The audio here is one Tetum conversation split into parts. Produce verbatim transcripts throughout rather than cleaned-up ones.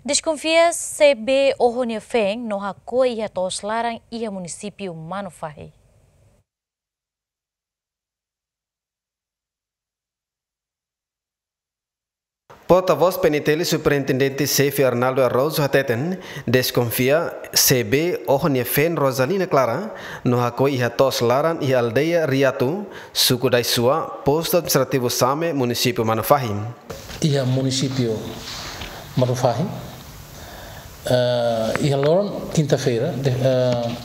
Deskonfia C B oho nia feen no hakoi iha to'os laran iha munisípiu Manufahi. Porta-voz P N T L Superintendente Xefe Arnaldo Araújo hateten, deskonfia C B oho nia feen Rosalina Clara no hakoi iha to'os laran iha aldeia Riatu, suku Daisua, postu administrativu Same, munisípiu Manufahi. Iha munisípiu Manufahi, eh, iha loron kinta-feira, de, eh,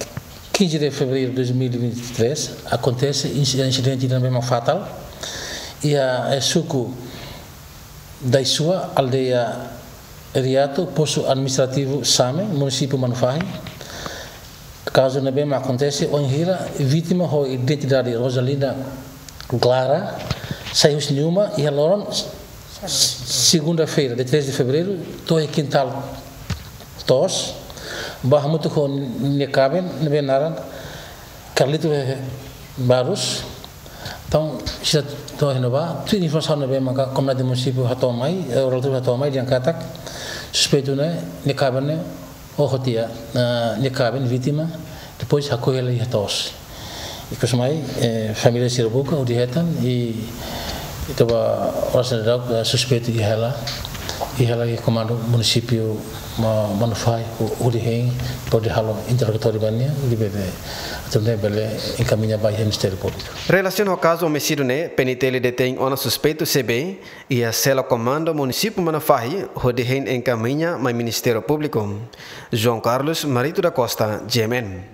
quinze de fevereiro de dois mil e vinte e três, akontese insi-, insidente ne'ebé mak fatál iha, eh, suku Daisua, aldeia Riatu, postu administrativu Same, munisípiu Manufahi. Kazu ne'ebé mak akontese ohin hira, vítima ho identidade Rosalina Clara sai husi nia uma iha loron segunda-feira, dia três de fevereiro, to'o iha kintál to'os, bá hamutuk ho nia kaben ne'ebé naran Carlito Barros. Entaun, sira to'o iha ne'ebá, tuir informasaun ne'ebé maka komunidade munisípiu hato'o mai, eh, relativu hato'o mai, dehan katak suspeitu ne'e, nia kaben ne'e oho tiha, eh, nia kaben, vítima, depois hakoi hela iha to'os. Ikus mai, eh, família sira buka, hodi hetan, i, i toba oras ne'e daudaun, eh, suspeitu iha hela, iha hela iha komandu munisípiu Ma-, Manufahi, ho-, hodi hein, hodi halo interrogatóriu ba nia, hodi bele, atu nune'e bele enkamiña ba iha Ministériu Públiku. Relasiona ho kazu omisídiu ne'e, P N T L detein ona suspeitu C B iha sela komandu munisípiu Manufahi, hodi hein enkamiña mai Ministériu Públiku. João Carlos Marito da Costa, G M N.